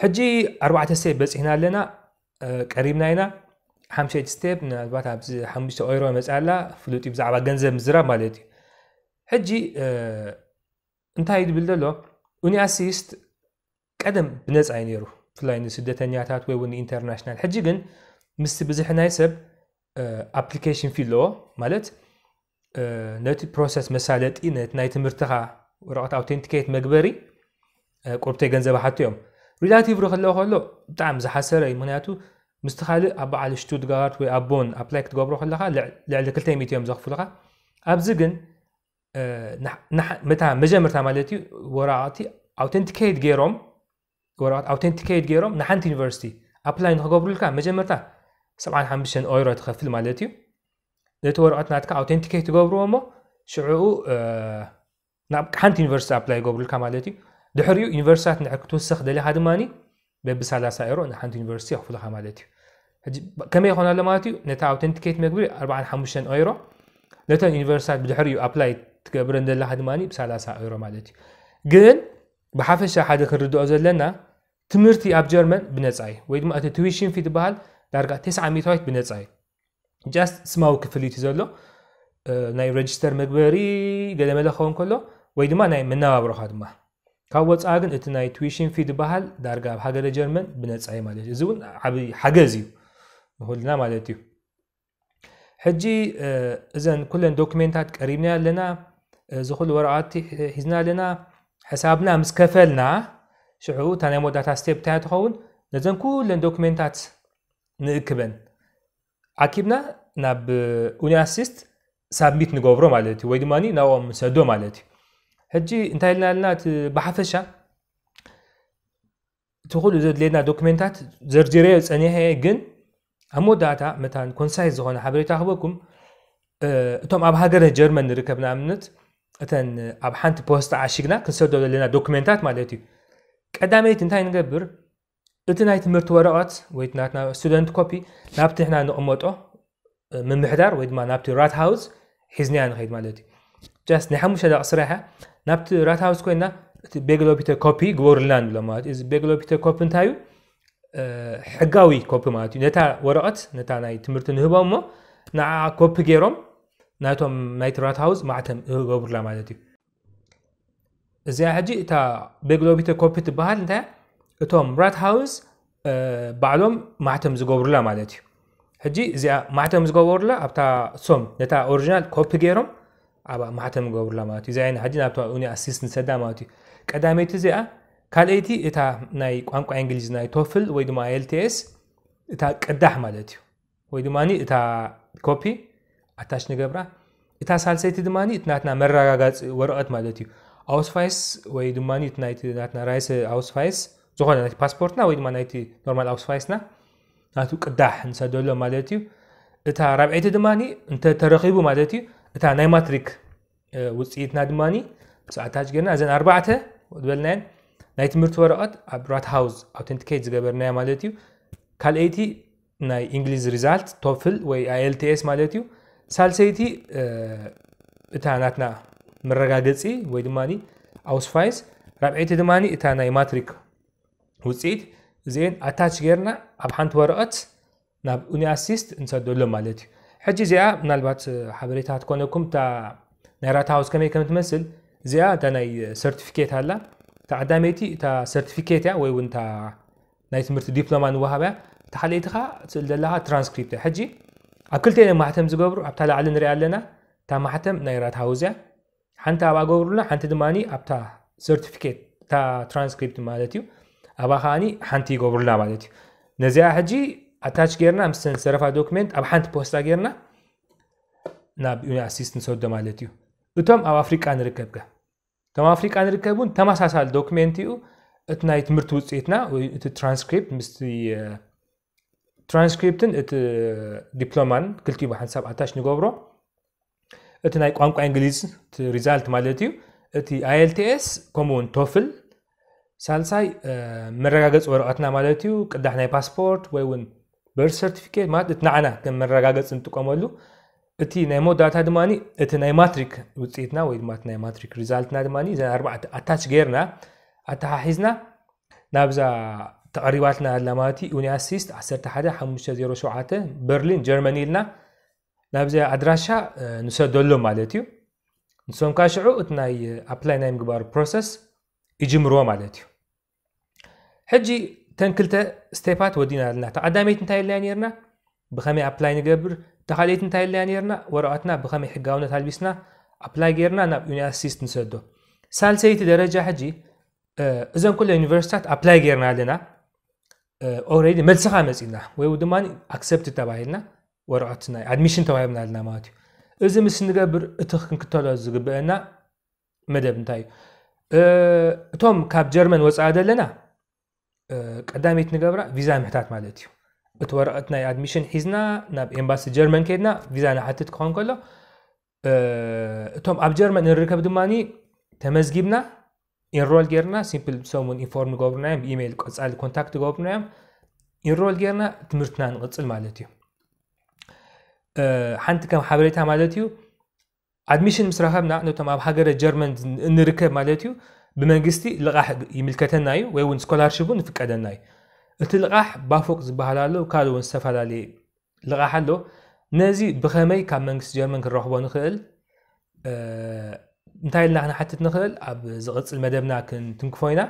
ሕጂ ኣርባዕተ ስቴፕ በፂሕና ኣለና፣ ቀሪብና ኢና። ሓምሸይቲ ስቴፕ ምናልባት ኣብዚ ሓሙሽተ ኦይሮ መፅኣ ኣላ ፍሉጥ እዩ ብዛዕባ ገንዘብ ምዝራብ ማለት እዩ። ሕጂ እንታይ እዩ ዝብል ዘሎ? ኡኒ ኣሲስት ቀደም ብነፃ እዩ ነይሩ፣ ብፍላይ ንስደተኛታት ወይ እውን ንኢንተርናሽናል። ሕጂ ግን ምስቲ ብዝሒ ናይ ሰብ ኣፕሊኬሽን ፊ ኣለዎ ማለት ነቲ ፕሮሰስ መሳለጢ ነቲ ናይ ትምህርትኻ ወረቐት ኣውቴንቲኬት መግበሪ ቁርብተይ ገንዘብ ሓቱ እዮም። ሪላቲቭ ርክለዎ ከሎ ብጣዕሚ ዝሓሰረ እዩ። ምክንያቱ ምስቲ ካልእ ኣብ በዓል ሽቱትጋርት ወይ ኣብ ቦን ኣፕላይ ክትገብሮ ከለኻ ልዕሊ ክልተ ሚእቲ እዮም ዘኽፍሉኻ። ኣብዚ ግን መታ መጀመርታ ማለት እዩ ወረቓቕቲ ኣውተንቲኬት ገይሮም ወረቐት ኣውተንቲኬት ገይሮም ንሓንቲ ዩኒቨርሲቲ ኣፕላይ ንክገብሩልካ መጀመርታ ሰብዓን ሓሙሽተን ኦይሮ ትኸፍል ማለት እዩ። ነቲ ወረቐት ናትካ ኣውተንቲኬት ትገብርዎ እሞ ሽዕኡ ናብ ሓንቲ ዩኒቨርሲቲ ኣፕላይ ይገብሩልካ ማለት እዩ። ድሕሪኡ ዩኒቨርሲታት ንድሕር ክትውስኽ ደሊኻ ድማ በቢ ሰላሳ ኤሮ ንሓንቲ ዩኒቨርሲቲ የኽፍልኻ ማለት እዩ። ከመይ ይኾን ኣሎ ማለት እዩ? ነቲ ኣውተንቲኬት መግቢ ኣርባዓን ሓሙሽተን ኦይሮ፣ ነተን ዩኒቨርሲታት ብድሕሪኡ ኣፕላይ ትገብረን ዘለኻ ድማ ብ ሰላሳ ኦይሮ ማለት እዩ። ግን ብሓፈሻ ሓደ ክንርድኦ ዘለና ትምህርቲ ኣብ ጀርመን ብነፃ እዩ፣ ወይ ድማ እቲ ቱዊሽን ፊ ዝበሃል ዳርጋ ተስዓ ሚእታዊት ብነፃ እዩ። ጃስት ስማዊ ክፍሊት እዩ ዘሎ። ናይ ሬጅስተር መግበሪ ገለመለ ክኸውን ከሎ ወይ ድማ ናይ መነባብሮኻ ድማ። ካብ ወፃኢ ግን እቲ ናይ ቱዊሽን ፊ ዝበሃል ዳርጋ ኣብ ሃገረ ጀርመን ብነፃ እዩ ማለት እዩ። እዚ እውን ዓብዪ ሓገዝ እዩ ንኩልና ማለት እዩ። ሕጂ እዘን ኩለን ዶክሜንታት ቀሪብና ኣለና። እዚ ኩሉ ወረቓቲ ሒዝና ኣለና። ሕሳብና ምስ ከፈልና ሽዑ እታ ናይ መወዳእታ ስቴፕ እንታይ ትኸውን? ነዘን ኩለን ዶክሜንታት ንእክበን ኣኪብና ናብ ኡኒ ኣሲስት ሳብሚት ንገብሮ ማለት እዩ፣ ወይ ድማ ናብኦም ንሰዶ ማለት እዩ። ሕጂ እንታይ ኢልና ኣለና? እቲ ብሓፈሻ እቲ ኩሉ ዘድልየና ዶክሜንታት ዘርዚረዮ ፀኒሐ፣ ግን ኣብ መወዳእታ መታን ኮንሳይዝ ዝኾነ ሓበሬታ ክበኩም። እቶም ኣብ ሃገረ ጀርመን ንርከብ ንኣብነት እተን ኣብ ሓንቲ ፖስታ ዓሽግና ክንሰዶ ዘለና ዶክሜንታት ማለት እዩ። ቀዳመይቲ እንታይ ንገብር? እቲ ናይ ትምህርቲ ወረቐት ወይ ናትና ስቱደንት ኮፒ ናብቲ ንሕና ንቕመጦ ምምሕዳር ወይ ድማ ናብቲ ራት ሃውስ ሒዝናያ ንኸይድ ማለት እዩ። ጃስት ናይ ሓሙሽተ ደቂ ስራሕ እያ። ናብቲ ራት ሃውስ ኮይና እቲ ቤግሎቢተ ኮፒ ግበሩልና ንብሎ ማለት እዩ። እዚ ቤግሎቢተ ኮፒ እንታይ እዩ? ሕጋዊ ኮፒ ማለት እዩ። ነታ ወረቐት ነታ ናይ ትምህርቲ ንህቦም እሞ ንዓ ኮፒ ገይሮም ናቶም ናይቲ ራት ሃውስ ማዕተም ይገብሩላ ማለት እዩ። እዚኣ ሕጂ እታ ቤግሎቢተ ኮፒ ትበሃል እንታይ እቶም ራት ሃውስ ባዕሎም ማዕተም ዝገብሩላ ማለት እዩ። ሕጂ እዚኣ ማዕተም ዝገበሩላ ኣብታ እሶም ነታ ኦሪጂናል ኮፒ ገይሮም ኣብ ማዕተም ዝገብሩላ ማለት እዩ። እዚኣ ሕጂ ናብታ ኡኒ ኣሲስት ንሰዳ ማለት እዩ። ቀዳመይቲ እዚኣ፣ ካልኣይቲ እታ ናይ ቋንቋ እንግሊዝ ናይ ቶፍል ወይ ድማ ኤልቲኤስ እታ ቅዳሕ ማለት እዩ። ወይ ድማ እታ ኮፒ ኣታች ንገብራ። እታ ሳልሰይቲ ድማ እቲ ናትና መረጋጋፂ ወረቐት ማለት እዩ። ኣውስፋይስ ወይ ድማ ናይቲ ናትና ራይስ ኣውስፋይስ ዝኾነ ናይቲ ፓስፖርትና ወይ ድማ ናይቲ ኖርማል ኣውስፋይስና ናቱ ቅዳሕ ንሰደሎ ማለት እዩ። እታ ራብዐይቲ ድማ እንተ ተረኺቡ ማለት እዩ እታ ናይ ማትሪክ ውፅኢትና ድማ ምስ ኣታች ገርና እዘን ኣርባዕተ ዝበልናየን ናይ ትምህርቲ ወረቐት ኣብ ራት ሃውስ ኣውተንቲኬት ዝገበርናያ ማለት እዩ። ካልኣይቲ ናይ እንግሊዝ ሪዛልት ቶፍል ወይ ኣይኤልቲኤስ ማለት እዩ። ሳልሰይቲ እታ ናትና መረጋገፂ ወይ ድማ ኣውስፋይስ፣ ራብዐይቲ ድማ እታ ናይ ማትሪክ ውፅኢት። እዚአን ኣታች ገርና ኣብ ሓንቲ ወረቐት ናብ ኡኒ ኣሲስት እንሰደሎም ማለት እዩ። ሕጂ እዚኣ ምናልባት ሓበሬታ ትኮነኩም እታ ናይ ራት ሃውስ ከመይ ከም ትመስል። እዚኣ እታ ናይ ሰርቲፊኬት ኣላ። እታ ቀዳመይቲ እታ ሰርቲፊኬት እያ ወይ እውን እታ ናይ ትምህርቲ ዲፕሎማ ንወሃብ እያ። እታ ካልኣይቲ ከዓ ትስእል ዘለካ ትራንስክሪፕት እያ። ሕጂ ኣብ ክልተ ማሕተም ዝገብሩ ኣብታ ላዕሊ ንሪኣ ኣለና። እታ ማሕተም ናይ ራት ሃውስ እያ። ሓንቲ ኣብኣ ገብሩልና፣ ሓንቲ ድማ ኣብታ ሰርቲፊኬት እታ ትራንስክሪፕት ማለት እዩ። ኣብኣ ከዓኒ ሓንቲ ይገብሩልና ማለት እዩ። ነዚኣ ሕጂ ኣታች ጌርና ምስተን ዝተረፋ ዶክሜንት ኣብ ሓንቲ ፖስታ ጌርና ናብ ዩኒ ኣሲስት ንሰዶ ማለት እዩ። እቶም ኣብ ኣፍሪቃ ንርከብ ከ? እቶም ኣፍሪቃ ንርከብ እውን ተመሳሳሊ ዶክሜንት እዩ። እቲ ናይ ትምህርቲ ውፅኢትና ወይ እቲ ትራንስክሪፕት ምስቲ ትራንስክሪፕትን እቲ ዲፕሎማን ክልቲኡ ብሓንሳብ ኣታች ንገብሮ። እቲ ናይ ቋንቋ እንግሊዝ እቲ ሪዛልት ማለት እዩ። እቲ ኣይኤልቲኤስ ከምኡ እውን ቶፍል። ሳልሳይ መረጋገፂ ወረቐትና ማለት እዩ። ቅዳሕ ናይ ፓስፖርት ወይ እውን በርት ሰርቲፊኬት ማለት እቲ ንዓና ከም መረጋገፂ ንጥቀመሉ። እቲ ናይ መወዳእታ ድማ እቲ ናይ ማትሪክ ውፅኢትና ወይ ድማ እቲ ናይ ማትሪክ ሪዛልትና ድማ እዘን ኣርባዕተ ኣታች ጌርና ኣተሓሒዝና ናብዛ ተቐሪባትና ኣላ ማለት እዩ። ዩኒ ኣሲስት ዓሰርተ ሓደ ሓሙሽተ ዜሮ ሸውዓተ በርሊን ጀርመኒ ኢልና ናብዚ ኣድራሻ ንሰደሎም ማለት እዩ። ንሶም ከዓ ሽዑ እቲ ናይ ኣፕላይ ናይ ምግባር ፕሮሰስ ይጅምርዎ ማለት እዩ። ሕጂ ተን ክልተ ስቴፓት ወዲና ኣለና። ተቐዳመይቲ እንታይ ኢልና ነርና? ብኸመይ ኣፕላይ ንገብር? ተኻልኤይቲ እንታይ ኢልና ነርና? ወረቐትና ብኸመይ ሕጋውነት ኣልቢስና ኣፕላይ ጌርና ናብ ዩኒ ኣሲስት ንሰዶ። ሳልሰይቲ ደረጃ ሕጂ እዘን ኩለ ዩኒቨርሲታት ኣፕላይ ጌርና ኣለና። already መልስኻ መፂና ወይ ድማ accept ተባሂልና ወረቐት ናይ admission ተዋሂብና ኣለና ማለት እዩ። እዚ ምስ ንገብር እቲ ክንክተሎ ዝግበአና መደብ እንታይ እዩ? እቶም ካብ ጀርመን ወፃኢ ዘለና ቀዳመይቲ ንገብራ ቪዛ ምሕታት ማለት እዩ። እቲ ወረቐት ናይ admission ሒዝና ናብ ኤምባሲ ጀርመን ከድና ቪዛ ንሓትት ክኾን ከሎ እቶም ኣብ ጀርመን ንርከብ ድማ ተመዝጊብና enroll ጌርና simple ሰሙን inform ንገብሩና እዮም። ብኢሜይል ቀፃሊ contact ንገብሩና እዮም። Enroll ጌርና ትምህርትና ንቕፅል ማለት እዩ። ሓንቲ ከም ሓበሬታ ማለት እዩ። Admission ምስ ረኸብና ነቶም ኣብ ሃገረ ጀርመን እንርከብ ማለት እዩ ብመንግስቲ ልቓሕ ይምልከተና እዩ ወይ እውን scholarship እውን ይፍቀደና እዩ። እቲ ልቓሕ ባፎቅ ዝበሃል ኣሎ፣ ካልእ እውን ዝተፈላለየ ልቓሕ ኣሎ። ነዚ ብኸመይ ካብ መንግስቲ ጀርመን ክንረኽቦ ንኽእል እንታይ ኢልና ክንሓትት ንኽእል ኣብ ዝቕፅል መደብና ክንትንክፎ ኢና።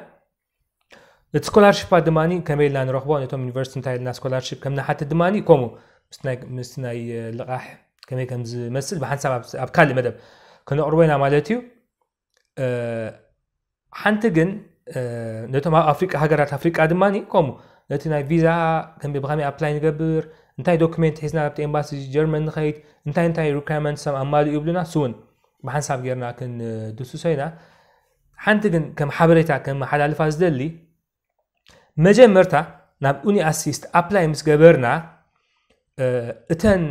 እቲ ስኮላርሽፓት ድማ ከመይ ኢልና ንረኽቦ፣ ነቶም ዩኒቨርሲቲ እንታይ ኢልና ስኮላርሽፕ ከም ንሓትት ድማ ከምኡ ምስቲ ናይ ልቓሕ ከመይ ከም ዝመስል ብሓንሳብ ኣብ ካልእ መደብ ክነቕርቦ ኢና ማለት እዩ። ሓንቲ ግን ነቶም ኣብ ኣፍሪቃ ሃገራት ኣፍሪቃ ድማ ከምኡ ነቲ ናይ ቪዛ ከመይ ብኸመይ ኣፕላይ ንገብር፣ እንታይ ዶክሜንት ሒዝና ኣብቲ ኤምባሲ ጀርመን ንኸይድ፣ እንታይ እንታይ ሪኳርመንትስ ኣማልኡ ይብሉና፣ ስውን ብሓንሳብ ጌርና ክንድስሶ ኢና። ሓንቲ ግን ከም ሓበሬታ ከመሓላልፋ ዝደሊ መጀመርታ ናብ ዩኒ ኣሲስት ኣፕላይ ምስ ገበርና እተን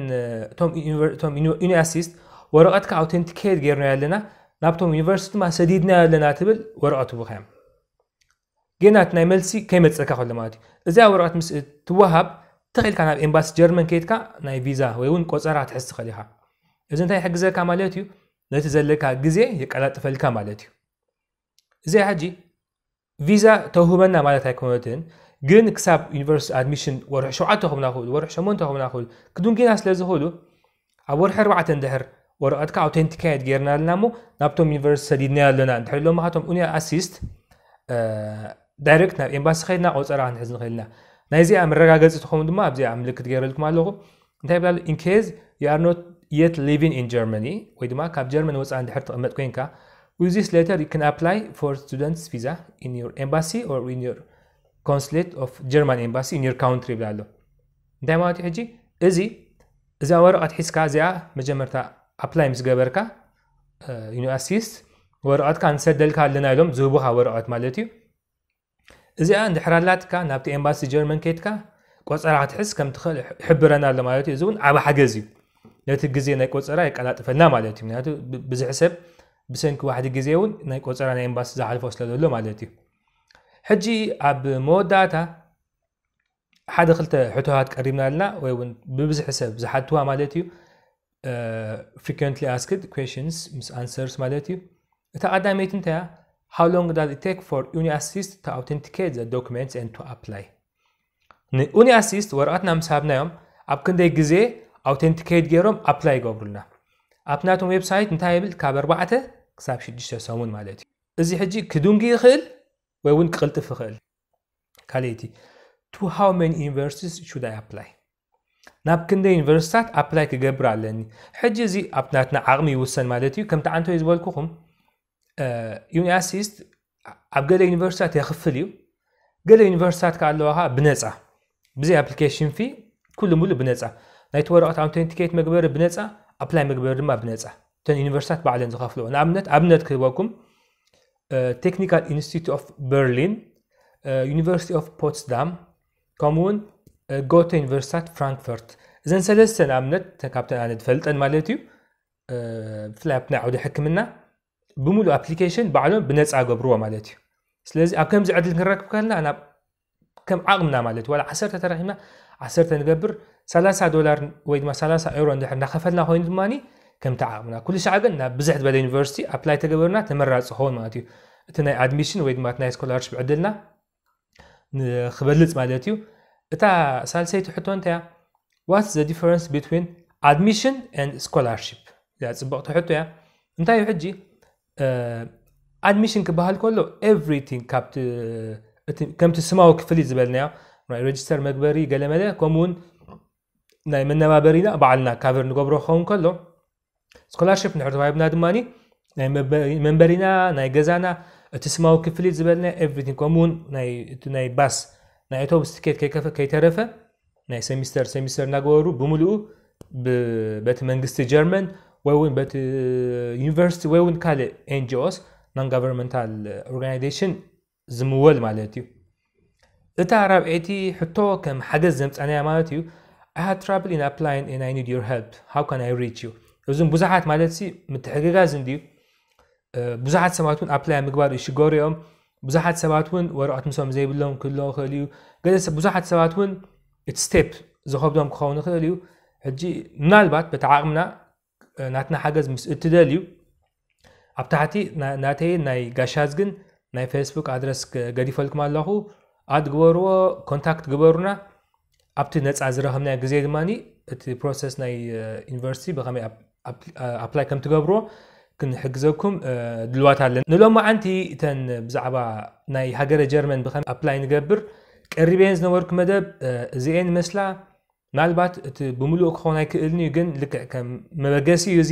እቶም ዩኒ ኣሲስት ወረቐትካ ኣውተንቲኬት ጌርናዮ ኣለና፣ ናብቶም ዩኒቨርሲቲ ድማ ሰዲድናዮ ኣለና ትብል ወረቐት ትቡኻዮም። ጌና እቲ ናይ መልሲ ከይመፀካ ከሎ ማለት እዩ። እዚኣ ወረቐት ምስ ትወሃብ ተኽኢልካ ናብ ኤምባሲ ጀርመን ከይድካ ናይ ቪዛ ወይ እውን ቆፀራ ትሕዝ ትኽእል ኢኻ። እዚ እንታይ ይሕግዘካ ማለት እዩ? ነቲ ዘለካ ግዜ የቀላጥፈልካ ማለት እዩ። እዚኣ ሕጂ ቪዛ ተውህበና ማለት ኣይኮነትን፣ ግን ክሳብ ዩኒቨርሲቲ ኣድሚሽን ወርሒ ሸውዓተ ክብና ክብሉ ወርሒ ሸሞንተ ክብና ክብሉ ክዱንጊና ስለ ዝኽእሉ ኣብ ወርሒ ኣርባዕተ እንድሕር ወረቐትካ ኣውተንቲካየት ጌርና ኣለና እሞ ናብቶም ዩኒቨርሲቲ ሰዲድናዮ ኣለና እንድሕር ኢሎምኻ እቶም ዩኒ ኣሲስት ዳይሬክት ናብ ኤምባሲ ከይድና ቆፀራ ክንሕዝ ንኽእል ኢና። ናይዚኣ መረጋገፂ ትኸውን ድማ ኣብዚኣ ምልክት ገይረልኩም ኣለኹ። እንታይ ይብላ ኣሎ? In case you are not yet living in Germany ወይ ድማ ካብ ጀርመን ወፃኢ እንድሕር ትቕመጥ ኮይንካ with this letter you can apply for students visa in your embassy or in your consulate of German embassy in your country ይብላ ኣሎ። እንታይ ማለት እዩ ሕጂ? እዚ እዛ ወረቐት ሒዝካ እዚኣ መጀመርታ ኣፕላይ ምስ ገበርካ ዩኒ ኣሲስት ወረቐትካ ንሰደልካ ኣለና ኢሎም ዝህቡኻ ወረቐት ማለት እዩ። እዚኣ እንድሕር ኣላትካ ናብቲ ኤምባሲ ጀርመን ከይድካ ቆፀራ ክትሕዝ ከም ትኽእል ይሕብረና ኣሎ ማለት እዩ። እዚ እውን ዓብ ሓገዝ እዩ፣ ነቲ ግዜ ናይ ቆፀራ የቀላጥፈልና ማለት እዩ። ምክንያቱ ብዙሕ ሰብ ብሰንኪ ዋሕዲ ግዜ እውን ናይ ቆፀራ ናይ ኤምባሲ ዝሓልፎ ስለ ዘሎ ማለት እዩ። ሕጂ ኣብ መወዳእታ ሓደ ክልተ ሕቶታት ቀሪብና ኣለና ወይ እውን ብብዝሒ ሰብ ዝሓትዋ ማለት እዩ። Frequently asked questions ምስ answers ማለት እዩ። እታ ቀዳመይቲ እንታይ እያ? How long does it take for ዩኒ ኣሲስት to authenticate the documents and to apply? ንዩኒ ኣሲስት ወረቐትና ምስ ሃብናዮም ኣብ ክንደይ ግዜ ኣውተንቲኬት ገይሮም ኣፕላይ ይገብሩልና? ኣብቲ ናቶም ዌብሳይት እንታይ ይብል? ካብ ኣርባዕተ ክሳብ ሽዱሽተ ሰሙን ማለት እዩ። እዚ ሕጂ ክዱንጊ ይኽእል ወይ እውን ክቕልጥፍ ይኽእል። ካልኣይቲ to how many universities should I apply? ናብ ክንደይ ዩኒቨርሲታት ኣፕላይ ክገብር ኣለኒ? ሕጂ እዚ ኣብ ናትና ዓቕሚ ይውሰን ማለት እዩ። ከምቲ ዓንቶይ ዝበልኩኹም ዩኒ ኣሲስት ኣብ ገለ ዩኒቨርሲታት የኽፍል እዩ፣ ገለ ዩኒቨርሲታት ከ ኣለዋ ብነፃ ብዘይ ኣፕሊኬሽን ፊ ኩሉ ሙሉእ ብነፃ። ናይቲ ወረቐት ኣውተንቲኬት መግበሪ ብነፃ፣ ኣፕላይ መግበሪ ድማ ብነፃ። እተን ዩኒቨርሲታት ባዕለን ዝኸፍልኦ ንኣብነት ኣብነት ክህበኩም ቴክኒካል ኢንስቲትዩት ኦፍ በርሊን፣ ዩኒቨርሲቲ ኦፍ ፖትስዳም ከምኡውን ጎተ ዩኒቨርሲታት ፍራንክፈርት። እዘን ሰለስተ ንኣብነት ካብተን ኣነ ዝፈልጠን ማለት እዩ። ብፍላይ ኣብቲ ናይ ዓውዲ ሕክምና ብምሉእ ኣፕሊኬሽን ባዕሎም ብነፃ ገብርዎ ማለት እዩ። ስለዚ ኣብ ከምዚ ዕድል ክንረክብ ከለና ናብ ከም ዓቕምና ማለት ዋላ ዓሰርተ ተረኪብና ዓሰርተ ንገብር ሰላሳ ዶላር ወይ ድማ ሰላሳ ኤሮ እንድሕር እናኸፈልና ኮይኑ ድማ ከምቲ ዓቕምና ኩሉ ሻዕ ግን ናብ ብዝሕ ዝበለ ዩኒቨርሲቲ ኣፕላይ ተገበርና ተመራፂ ክኸውን ማለት እዩ። እቲ ናይ ኣድሚሽን ወይ ድማ ናይ ስኮላርሽፕ ዕድልና ንክበልፅ ማለት እዩ። እታ ሳልሰይቲ ሕቶ እንታይ እያ? What's the difference between admission and scholarship? እዚኣ ፅብቕቲ ሕቶ እያ። እንታይ እዩ ሕጂ ኣድሚሽን ክበሃል ከሎ ኤቭሪቲንግ ከምቲ ስማዊ ክፍሊት ዝበልናዮ ናይ ሬጅስተር መግበሪ ገለመለ ከምኡውን ናይ መነባበሪና ባዕልና ካቨር ንገብሮ ክኸውን ከሎ ስኮላርሽፕ ንድሕር ተዋሂብና ድማ ናይ መንበሪና ናይ ገዛና እቲ ስማዊ ክፍሊት ዝበልና ኤቭሪቲንግ ከምኡውን እቲ ናይ ባስ ናይ ኣውቶቡስ ትኬት ከይከፈ ከይተረፈ ናይ ሴሚስተር ሴሚስተር እናገበሩ ብምልኡ በቲ መንግስቲ ጀርመን ወይ እውን በቲ ዩኒቨርሲቲ ወይ እውን ካልእ ኤንጂኦስ non governmental organization ዝምወል ማለት እዩ። እታ ራብዐይቲ ሕቶ ከም ሓገዝ ዘምፃናያ ማለት እዩ። I had trouble in applying and I need your help, how can I reach you? እዞም ብዙሓት ማለት ሲ ምትሕግጋዝ እንድዩ። ብዙሓት ሰባት እውን ኣፕላይ ምግባር ይሽገሩ እዮም። ብዙሓት ሰባት እውን ወረቐት ምሶም ዘይብሎም ክህልዎ ይኽእል እዩ። ገለ ሰብ ብዙሓት ሰባት እውን እቲ ስቴፕ ዝኸብዶም ክኸውን ይኽእል እዩ። ሕጂ ምናልባት በቲ ዓቕምና ናትና ሓገዝ ምስ እትደልዩ ኣብ ታሕቲ ናተይን ናይ ጋሻዝግን ናይ ፌስቡክ ኣድረስ ገዲፈልኩም ኣለኹ። ኣድ ግበርዎ፣ ኮንታክት ግበሩና። ኣብቲ ነፃ ዝረኸብናዮ ግዜ ድማ እቲ ፕሮሰስ ናይ ዩኒቨርሲቲ ብኸመይ ኣፕላይ ከም ትገብርዎ ክንሕግዘኩም ድልዋት ኣለና። ንሎማዓንቲ እተን ብዛዕባ ናይ ሃገረ ጀርመን ብኸመይ ኣፕላይ ንገብር ቀሪበን ዝነበርኩ መደብ እዚኤን መስላ። ምናልባት እቲ ብምሉእ ክኸውን ኣይክእልን እዩ፣ ግን ልክዕ ከም መበገሲ እዩ እዚ።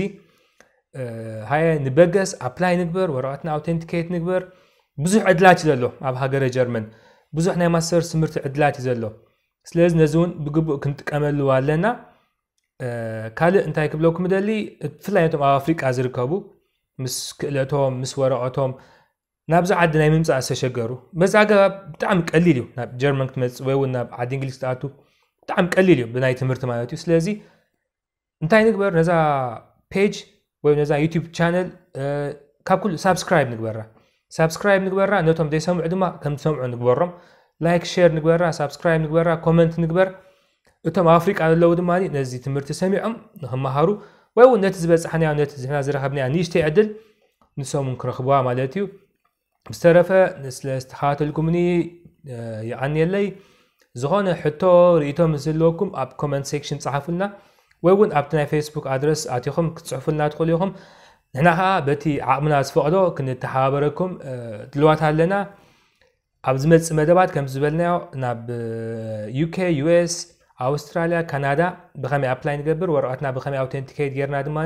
ሃየ ንበገስ፣ ኣፕላይ ንግበር፣ ወረቐትና ኣውተንቲኬት ንግበር። ብዙሕ ዕድላት እዩ ዘሎ ኣብ ሃገረ ጀርመን፣ ብዙሕ ናይ ማስተርስ ትምህርቲ ዕድላት እዩ ዘሎ። ስለዚ ነዚ እውን ብግቡእ ክንጥቀመሉ ኣለና። ካልእ እንታይ ክብለኩም ደሊ፣ ብፍላይ ነቶም ኣብ ኣፍሪቃ ዝርከቡ ምስ ክእለቶም ምስ ወረቐቶም ናብዚ ዓዲ ናይ ምምፃእ ዝተሸገሩ፣ በዚ ኣገባብ ብጣዕሚ ቀሊል እዩ ናብ ጀርመን ክትመፅእ ወይ እውን ናብ ዓዲ እንግሊዝ ክትኣቱ ብጣዕሚ ቀሊል እዩ ብናይ ትምህርቲ ማለት እዩ። ስለዚ እንታይ ንግበር፣ ነዛ ፔጅ ወይ ነዛ ዩቲዩብ ቻነል ካብ ኩሉ ሳብስክራይብ ንግበራ። ሳብስክራይብ ንግበራ፣ ነቶም ዘይሰምዑ ድማ ከም ዝሰምዑ ንግበሮም። ላይክ ሼር ንግበራ፣ ሳብስክራይብ ንግበራ፣ ኮመንት ንግበር። እቶም ኣብ ኣፍሪቃ ዘለዉ ድማ ነዚ ትምህርቲ ሰሚዖም ንክመሃሩ ወይ እውን ነቲ ዝበፃሕናዮ ነቲ ዝሕና ዝረኸብናዮ ንእሽተይ ዕድል ንሶም እውን ክረኽብዋ ማለት እዩ። ብዝተረፈ ስለ ዝተኸታተልኩምኒ የቐንየለይ። ዝኾነ ሕቶ ርእይቶ ምስ ዘለኩም ኣብ ኮመንት ሴክሽን ጸሓፉልና ወይ እውን ኣብቲ ናይ ፌስቡክ ኣድረስ ኣቲኹም ክትጽሕፉልና ትኽእሉ ኢኹም። ንሕና ኸዓ በቲ ዓቕምና ዝፈቕዶ ክንተሓባበረኩም ድልዋት ኣለና። ኣብ ዝመጽእ መደባት ከም ዝበልናዮ ናብ ዩኬ፣ ዩኤስ፣ ኣውስትራልያ፣ ካናዳ ብኸመይ ኣፕላይ ንገብር፣ ወረቐትና ብኸመይ ኣውተንቲኬት ጌርና ድማ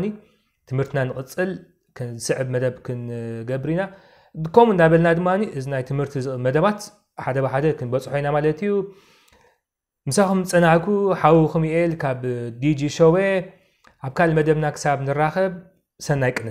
ትምህርትና ንቕጽል ክንስዕብ መደብ ክንገብር ኢና። ከምኡ እንዳበልና ድማ እዚ ናይ ትምህርቲ መደባት ሓደ ብሓደ ክንበጽሖ ኢና ማለት እዩ። ምሳኹም ዝጸናሕኩ ሓውኹም ኢኤል ካብ ዲጂ ሾዌ። ኣብ ካልእ መደብና ክሳብ ንራኸብ ሰናይ ቅነ።